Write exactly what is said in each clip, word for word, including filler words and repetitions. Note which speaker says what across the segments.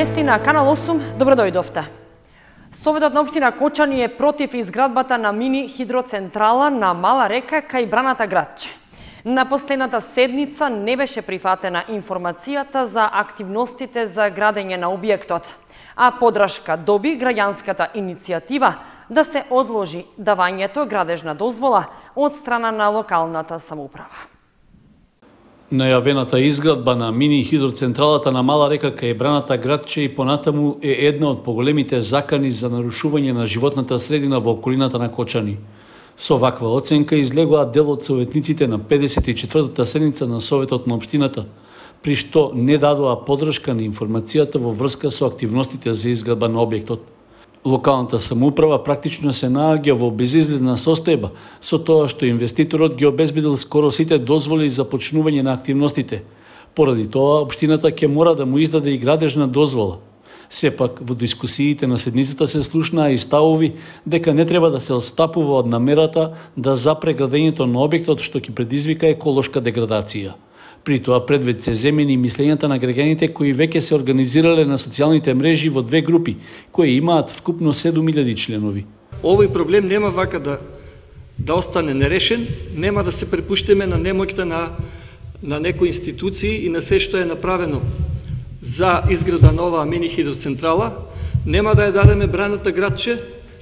Speaker 1: Вести на Канал осум, добро дојдовте. Советот на општина Кочани е против изградбата на мини хидроцентрала на Мала река кај Браната градче. На последната седница не беше прифатена информацијата за активностите за градење на објектот, а подршка доби граѓанската иницијатива да се одложи давањето градежна дозвола од страна на локалната самоуправа.
Speaker 2: Најавената изградба на мини хидроцентралата на Мала река кај Браната градче и понатаму е една од поголемите закани за нарушување на животната средина во околината на Кочани. Со ваква оценка излегоа дел од советниците на педесет и четвртата седница на Советот на општината, при што не дадоа подршка на информацијата во врска со активностите за изградба на објектот. Локалната самоуправа практично се наоѓа во безизлезна состојба со тоа што инвеститорот ги обезбедил скоро сите дозволи за почнување на активностите. Поради тоа, општината ќе мора да му издаде и градежна дозвола. Сепак, во дискусиите на седницата се слушнаа и ставови дека не треба да се отстапува од намерата да запре градењето на објектот што ќе предизвика еколошка деградација. При тоа предвид се земени мислењата на граѓаните кои веќе се организирале на социјалните мрежи во две групи, кои имаат вкупно седум илјади членови.
Speaker 3: Овој проблем нема вака да да остане нерешен, нема да се препуштиме на немоќта на на некои институции и на се што е направено за изградба на оваа мини хидроцентрала, нема да ја дадеме Браната градче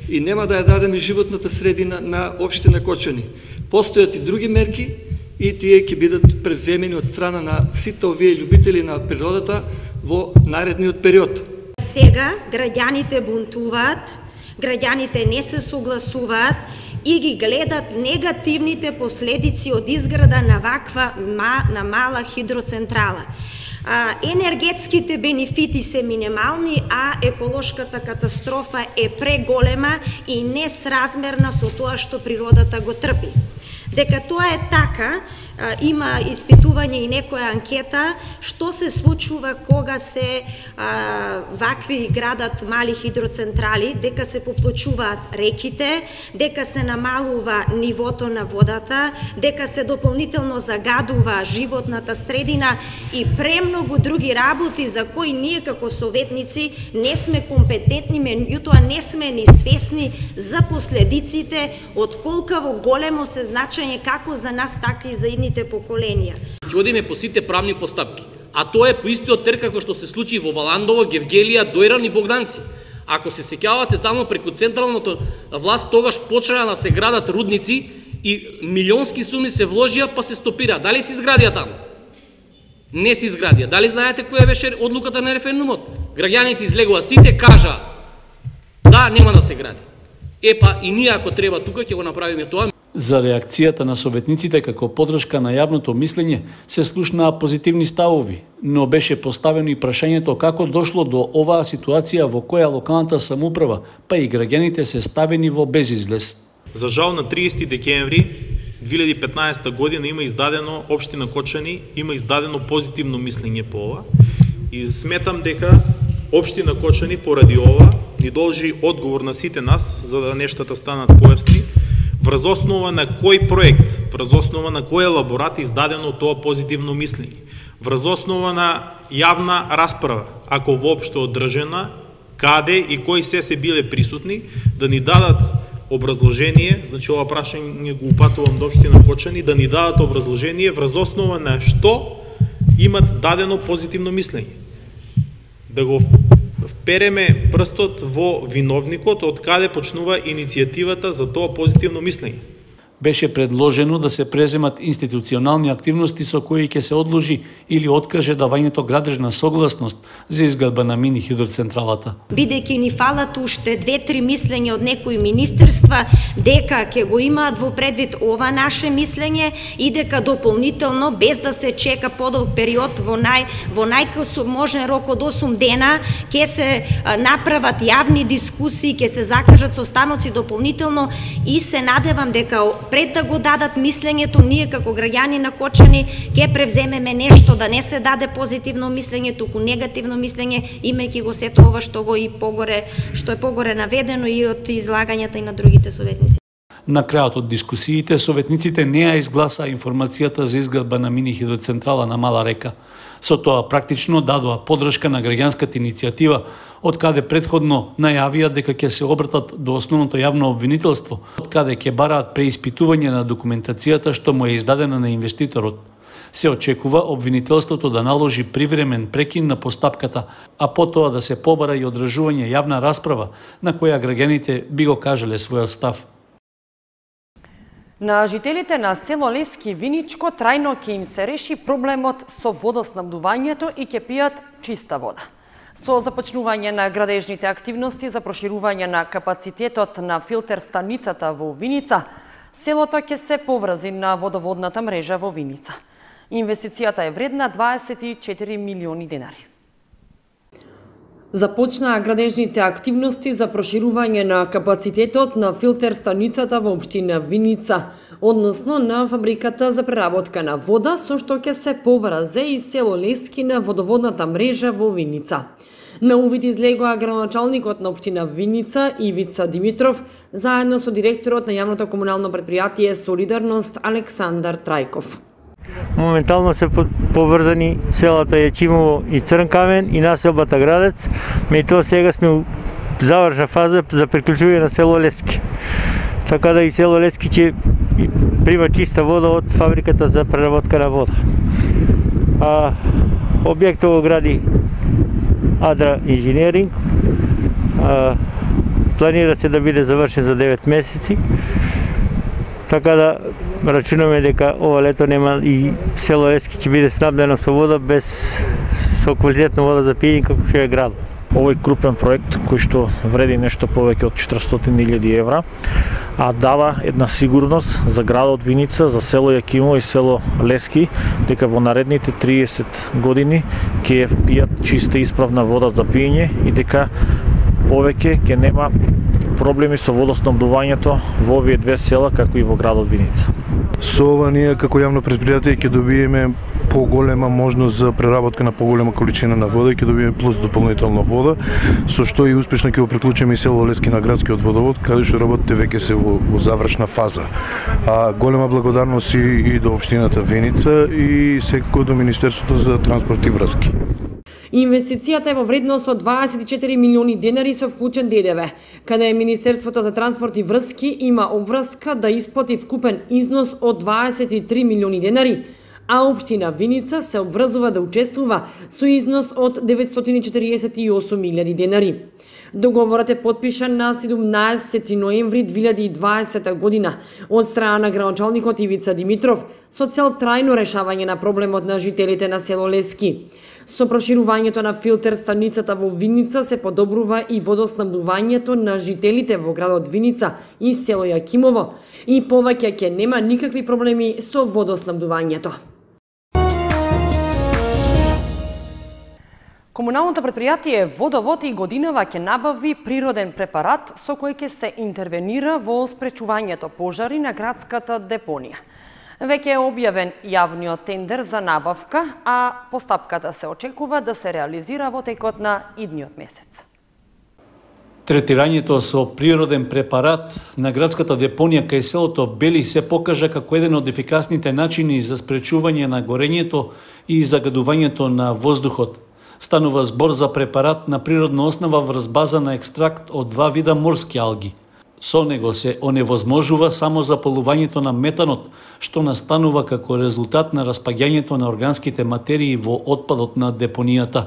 Speaker 3: и нема да ја дадеме животната средина на општина Кочани. Постојат и други мерки и тие ќе бидат превземени од страна на сите овие љубители на природата во наредниот период.
Speaker 4: Сега граѓаните бунтуваат, граѓаните не се согласуваат и ги гледат негативните последици од изграда на ваква на мала хидроцентрала. А, енергетските бенефити се минимални, а еколошката катастрофа е преголема и несразмерна со тоа што природата го трпи. Дека тоа е така, има испитување и некоја анкета што се случува кога се а, вакви градат мали хидроцентрали, дека се поплочуваат реките, дека се намалува нивото на водата, дека се дополнително загадува животната средина и премногу други работи за кои ние како советници не сме компетентни, меѓутоа не сме ни свесни за последиците од колкаво големо се значење како за нас, така и за идните поколенија.
Speaker 5: Ќе одиме по сите правни постапки, а тоа е по истиот тер како што се случи во Валандово, Гевгелија, Дојран и Богданци. Ако се сеќавате таму преку централната власт, тогаш почнаа да се градат рудници и милионски суми се вложија па се стопира. Дали се изградија таму? Не се изградија. Дали знаете која беше одлуката на референдумот? Граѓаните излегува сите, кажа да, нема да се гради. Епа и ние ако треба тука ќе го направиме тоа.
Speaker 2: За реакцијата на советниците како подршка на јавното мислење се слушнаа позитивни ставови, но беше поставено и прашањето како дошло до оваа ситуација во која локалната самоуправа, па и граѓаните се ставени во безизлез.
Speaker 6: За жал на триесети декември две илјади и петнаесета година има издадено општина Кочани, има издадено позитивно мислење по ова и сметам дека општина Кочани поради ова ни должи одговор на сите нас за да нештата станат појасни. Врз основа на кој проект, врз основа на кој елаборат е издадено тоа позитивно мислење, врз основа на јавна расправа, ако воопшто одржена, каде и кои се се биле присутни, да ни дадат образложение, значи ова прашање го упатувам до општина Кочани, да ни дадат образложение врз основа на што имат дадено позитивно мислење. Да го впереме прстот во виновникот од каде почнува иницијативата за тоа позитивно мислење.
Speaker 2: Беше предложено да се преземат институционални активности со кои ќе се одложи или откаже давањето градежна согласност за изградба на мини хидроцентралата.
Speaker 4: Бидејќи ни фалат уште две-три мислења од некои министерства дека ќе го имаат во предвид ова наше мислење и дека дополнително без да се чека подолг период во нај во најкасо можен рок од осум дена ќе се направат јавни дискусии, ќе се закажат состаноци дополнително и се надевам дека пред да го дадат мислењето, ние како граѓани на Кочани ќе превземеме нешто, да не се даде позитивно мислење, туку негативно мислење, имајќи го сето ова што го и погоре, што е погоре наведено и од излагањата и на другите советници.
Speaker 2: На крајот од дискусиите, советниците не ја изгласаа информацијата за изградба на мини хидроцентрала на Мала река. Со тоа практично дадоа подршка на граѓанската иницијатива, од каде предходно најавија дека ќе се обратат до основното јавно обвинителство, од каде ќе бараат преиспитување на документацијата што му е издадена на инвеститорот. Се очекува обвинителството да наложи привремен прекин на постапката, а потоа да се побара и одржување јавна расправа на која граѓаните би го кажале својот став.
Speaker 1: На жителите на село Лески Виничко трајно ќе им се реши проблемот со водоснабдувањето и ќе пијат чиста вода. Со започнување на градежните активности за проширување на капацитетот на филтер станицата во Виница, селото ќе се поврзи на водоводната мрежа во Виница. Инвестицијата е вредна дваесет и четири милиони денари. Започнаа градежните активности за проширување на капацитетот на филтер станицата во општина Виница, односно на фабриката за преработка на вода, со што ќе се поврзе и село Лески на водоводната мрежа во Виница. На увид излегоа градоначалникот на општина Виница Ивица Димитров, заедно со директорот на јавното комунално предпријатие Солидарност Александар Трајков.
Speaker 7: Моментално се поврзани селата Јачимово и Црнкамен и населбата Градец, меѓутоа сега сме у завршна фаза за приклучување на село Лески. Така да и село Лески ќе прима чиста вода од фабриката за преработка на вода. А, објектот го гради Адра Инженеринг, а, планира се да биде завршен за девет месеци. Така да рачунаме дека ова лето нема и село Лески ќе биде снабдено со вода без со квалитетна вода за пиење како што е град.
Speaker 8: Овој крупен проект кој што вреди нешто повеќе од четиристотини илјади евра, а дава една сигурност за градот Виница, за село Јакимово и село Лески, дека во наредните триесет години ќе пијат чиста и исправна вода за пиење и дека повеќе ќе нема проблеми со водоснабдувањето во овие две села, како и во градот Виница.
Speaker 9: Со ова ние како јавно предпријатие ќе добиеме поголема можност за преработка на поголема количина на вода и ќе добиеме плюс дополнителна вода, со што и успешно ќе го приклучиме и село Лески на градскиот водовод, каде што работите веќе се во, во завршна фаза. А голема благодарност и, и до општината Виница и секако до Министерството за транспорт и врски.
Speaker 1: Инвестицијата е во вредност од дваесет и четири милиони денари со вклучен Д Д В, каде Министерството за транспорт и врски има обврска да исплати вкупен износ од дваесет и три милиони денари, а општина Виница се обврзува да учествува со износ од деветстотини четириесет и осум илјади денари. Договорот е потпишан на седумнаесети ноември две илјади и дваесета година од страна на градоначалникот Ивица Димитров со цел трајно решавање на проблемот на жителите на село Лески. Со проширувањето на филтер станицата во Виница се подобрува и водоснабдувањето на жителите во градот Виница и село Јакимово и повеќе ќе нема никакви проблеми со водоснабдувањето. Комуналното предпријатие Водовод и годинава ќе набави природен препарат со кој ќе се интервенира во спречувањето пожари на градската депонија. Веќе е објавен јавниот тендер за набавка, а постапката се очекува да се реализира во текот на идниот месец.
Speaker 2: Третирањето со природен препарат на градската депонија кај селото Бели се покажа како еден од ефикасните начини за спречување на горењето и загадувањето на воздухот. Станува збор за препарат на природна основа врз база на екстракт од два вида морски алги. Со него се оневозможува само запалувањето на метанот, што настанува како резултат на распаѓањето на органските материи во отпадот на депонијата.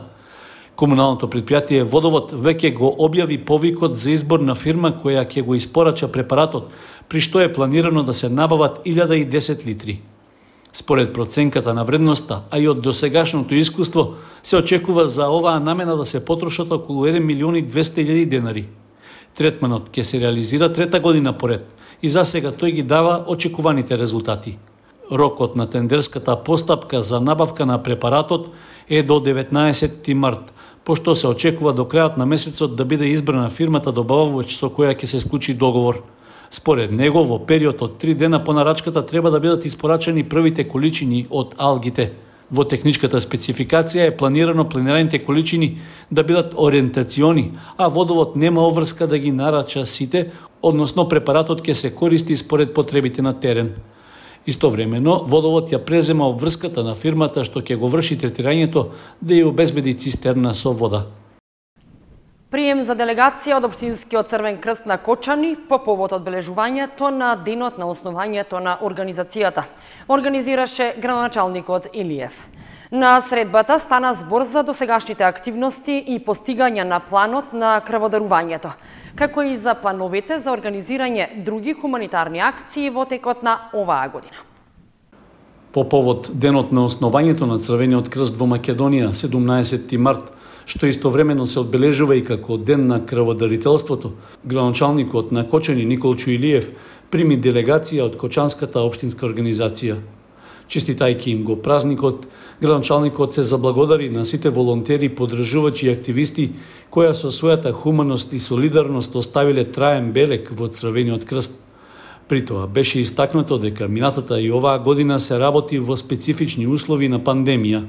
Speaker 2: Комуналното предпријатие Водовод веќе го објави повикот за избор на фирма која ќе го испорача препаратот, при што е планирано да се набават илјада и десет литри. Според проценката на вредноста, а и од досегашното искуство, се очекува за оваа намена да се потрошат околу еден милион и двесте илјади денари. Третманот ќе се реализира трета година поред и за сега тој ги дава очекуваните резултати. Рокот на тендерската постапка за набавка на препаратот е до деветнаесети март, пошто се очекува до крајот на месецот да биде избрана фирмата добавувач со која ќе се склучи договор. Според него, во период од три дена по нарачката треба да бидат испорачани првите количини од алгите. Во техничката спецификација е планирано планираните количини да бидат ориентациони, а Водовод нема обврска да ги нарача сите, односно препаратот ќе се користи според потребите на терен. Истовремено, Водовод ја презема обврската на фирмата што ќе го врши третирањето да ја обезбеди цистерна со вода.
Speaker 1: Прием за делегација од Општинскиот Црвен крст на Кочани по повод одбележувањето на денот на основањето на организацијата, организираше градоначалникот Илиев. На средбата стана збор за досегашните активности и постигања на планот на крводарувањето, како и за плановите за организирање други хуманитарни акции во текот на оваа година.
Speaker 2: По повод денот на основањето на Црвениот крст во Македонија, седумнаесетти март, што истовремено се одбележува и како ден на крводарителството, градоначалникот на Кочани Николчо Илиев прими делегација од Кочанската општинска организација. Честитајќи им го празникот, градоначалникот се заблагодари на сите волонтери, подржувачи и активисти кои со својата хуманост и солидарност оставиле траен белег во Црвениот крст. При тоа беше истакнато дека минатата и оваа година се работи во специфични услови на пандемија.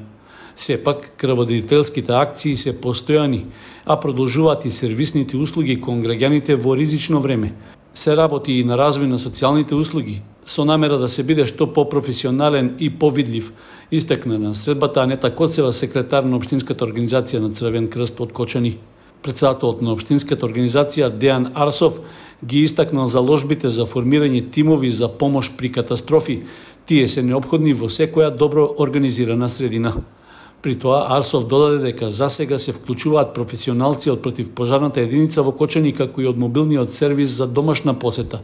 Speaker 2: Сепак, крводарителските акции се постојани, а продолжуваат и сервисните услуги кон граѓаните во ризично време. Се работи и на развој на социјалните услуги, со намера да се биде што по-професионален и повидлив, истакна на средбата Анета Коцева, секретар на Општинската организација на Црвен крст од Кочани. Председателот на Општинската организација Дејан Арсов ги истакнал заложбите за формирање тимови за помош при катастрофи. Тие се неопходни во секоја добро организирана средина. При тоа Арсов додаде дека засега се вклучуваат професионалци од противпожарната единица во Кочани, како и од мобилниот сервис за домашна посета.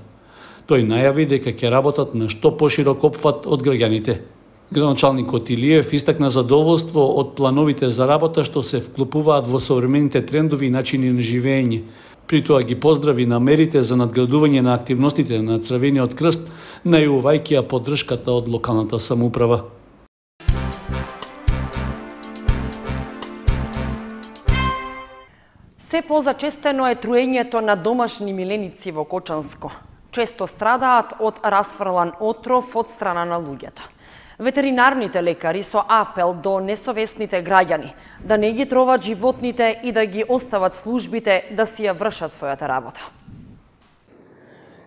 Speaker 2: Тој најави дека ќе работат на што поширок опфат од граѓаните. Градоначалникот Илиев истакна задоволство од плановите за работа што се вклопуваат во современите трендови и начини на живење. При тоа ги поздрави намерите за надградување на активностите на Црвениот крст, најувајќи ја поддршката од локалната самоуправа.
Speaker 1: Се позачестено е труењето на домашни миленици во Кочанско. Често страдаат од расфрлан отров од страна на луѓето. Ветеринарните лекари со апел до несовесните граѓани да не ги троват животните и да ги остават службите да си ја вршат својата работа.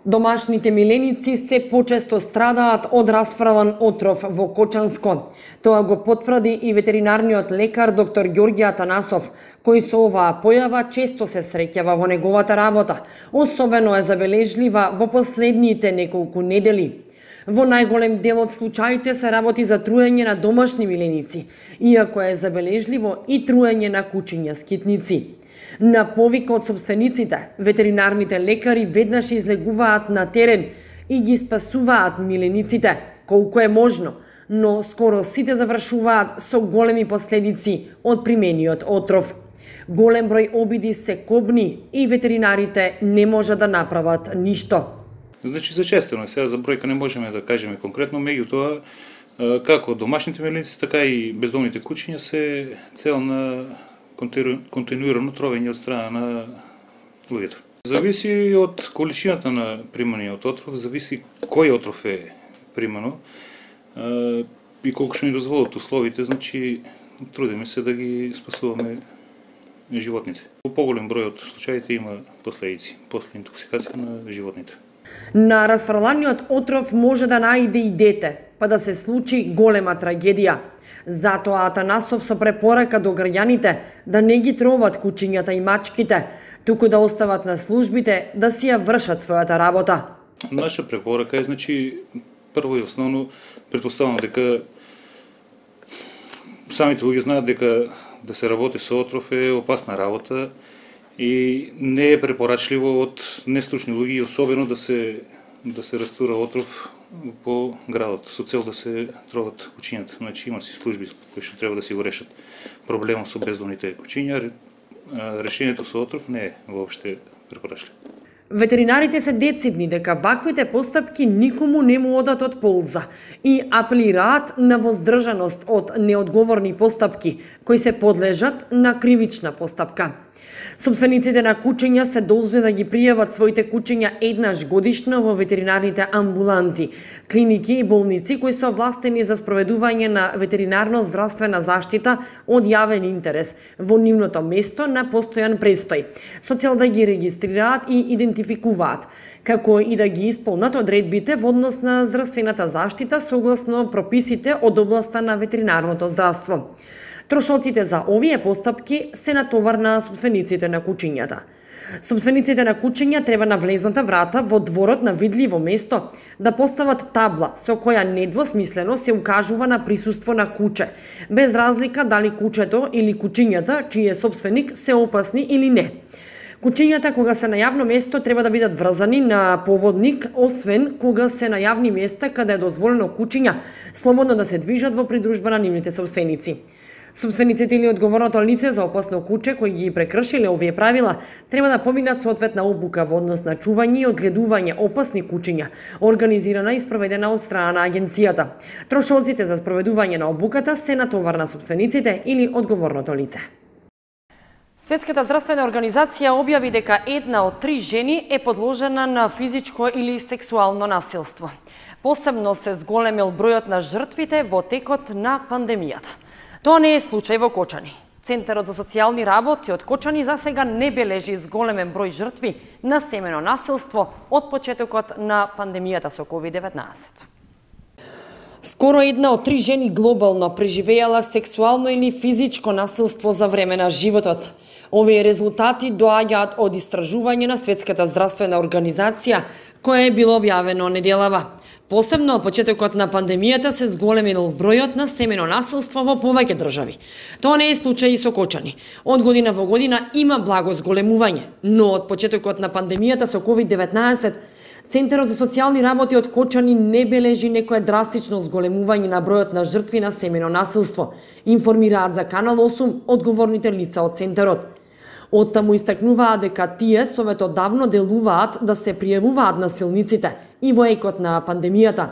Speaker 1: Домашните миленици се почесто страдаат од расфрлан отров во Кочанско. Тоа го потврди и ветеринарниот лекар доктор Ѓорѓе Атанасов, кој со оваа појава често се среќава во неговата работа. Особено е забележлива во последните неколку недели. Во најголем дел од случаите се работи за труење на домашни миленици, иако е забележливо и труење на кучиња скитници. На повик од собствениците, ветеринарните лекари веднаш излегуваат на терен и ги спасуваат милениците, колку е можно, но скоро сите завршуваат со големи последици од примениот отров. Голем број обиди се кобни и ветеринарите не можат да направат ништо.
Speaker 10: Значи, зачестено, сега за бројка не можеме да кажеме конкретно, меѓутоа, како домашните миленици, така и бездомните кучиња се цел на континуирано тровење од страна на луѓето. Зависи од количината на приманиот отров, зависи кој отров е примано и колку што ни дозволат условите, значи трудиме се да ги спасуваме животните. Во поголем број од случаите има последици после интоксикација на животните.
Speaker 1: На расфрланиот отров може да најде и дете, па да се случи голема трагедија. Затоа Атанасов со препорака до граѓаните да не ги троват кучињата и мачките, туку да остават на службите да си ја вршат својата работа.
Speaker 10: Наша препорака е, значи, прво и основно, претпоставам дека самите луѓе знаат дека да се работи со отров е опасна работа и не е препорачливо од нестручни луѓе, особено да се да се растура отров по градот со цел да се троват кучињата. Значи има си служби кои што треба да си го решат проблемот со бездомните кучиња. Решението со отров не е воопште препорачливо.
Speaker 1: Ветеринарите се децидни дека ваквите постапки никому не му одат од полза и апелираат на воздржаност од неодговорни постапки кои се подлежат на кривична постапка. Собствениците на куќиња се должни да ги пријават своите куќиња еднаш годишно во ветеринарните амбуланти, клиники и болници кои се овластени за спроведување на ветеринарно-здравствена заштита од јавен интерес во нивното место на постојан престој, со цел да ги регистрираат и идентификуваат, како и да ги исполнат одредбите во однос на здравствената заштита согласно прописите од областа на ветеринарното здравство. Трошоците за овие постапки се натовар на собствениците на куќињата. Собствениците на куќиња треба на влезната врата во дворот на видливо место да постават табла со која недвосмислено се укажува на присуство на куче, без разлика дали кучето или куќињата чиј е собственик се опасни или не. Куќињата кога се на јавно место треба да бидат врзани на поводник, освен кога се на јавни места каде е дозволено куќиња слободно да се движат во придружба на нивните собственици. Собствениците или одговорното лице за опасно куче кои ги прекршиле овие правила треба да поминат соодветна обука во однос на чување и одгледување опасни кучиња, организирана и спроведена од страна на агенцијата. Трошоците за спроведување на обуката се натовар на собствениците или одговорното лице. Светската здравствена организација објави дека една од три жени е подложена на физичко или сексуално насилство. Посебно се зголемил бројот на жртвите во текот на пандемијата. Тоа не е случај во Кочани. Центарот за социјални работи од Кочани за сега не бележи зголемен број жртви на семено насилство од почетокот на пандемијата со ковид деветнаесет. Скоро една од три жени глобално преживеала сексуално или физичко насилство за време на животот. Овие резултати доаѓаат од истражување на Светската здравствена организација, кое е било објавено неделава. Посебно од почетокот на пандемијата се зголемил бројот на семено насилство во повеќе држави. Тоа не е случај и со Кочани. Од година во година има благо зголемување, но од почетокот на пандемијата со ковид деветнаесет Центарот за социјални работи од Кочани не бележи некое драстично зголемување на бројот на жртви на семено насилство, информираат за Канал осум одговорните лица од Центарот. Оттаму истакнуваат дека тие советодавно делуваат да се пријавуваат насилниците и во екот на пандемијата.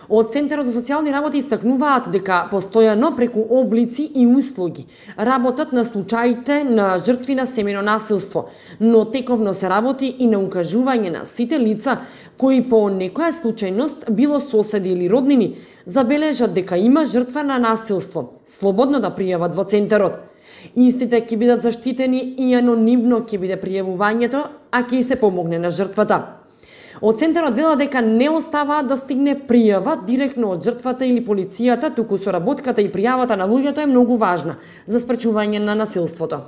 Speaker 1: Од Центарот за социјални работи истакнуваат дека постојано преку облици и услуги работат на случаите на жртви на семено насилство, но тековно се работи и на укажување на сите лица кои по некоја случајност, било соседи или роднини, забележат дека има жртва на насилство, слободно да пријават во Центарот. Истите ќе бидат заштитени и анонимно ќе биде пријавувањето, а ќе и се помогне на жртвата. Од Центарот вела дека не оставаат да стигне пријава директно од жртвата или полицијата, туку соработката и пријавата на луѓето е многу важна за спречување на насилството.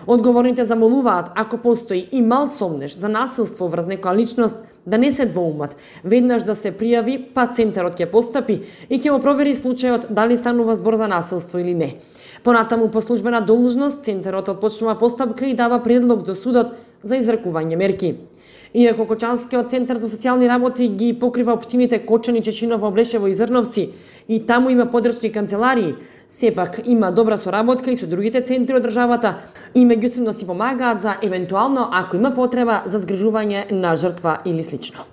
Speaker 1: Одговорните замолуваат, ако постои и мал сомнеш за насилство врз некоја личност, да не се двоумат, веднаш да се пријави, па Центарот ќе постапи и ќе го провери случајот дали станува збор за насилство или не. Понатаму по службена должност Центарот отпочнува постапка и дава предлог до судот за изрекување мерки. Иако Кочанскиот центар за социјални работи ги покрива општините Кочани, Чечиново, Блешево и Зрновци и таму има подрачни канцеларии, сепак има добра соработка и со другите центри од државата и меѓусебно си помагаат за евентуално ако има потреба за згрижување на жртва или слично.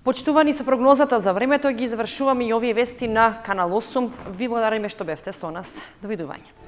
Speaker 1: Почитувани со прогнозата за времето, ги завршуваме и овие вести на Канал осум. Ви благодариме што бевте со нас. Довидување.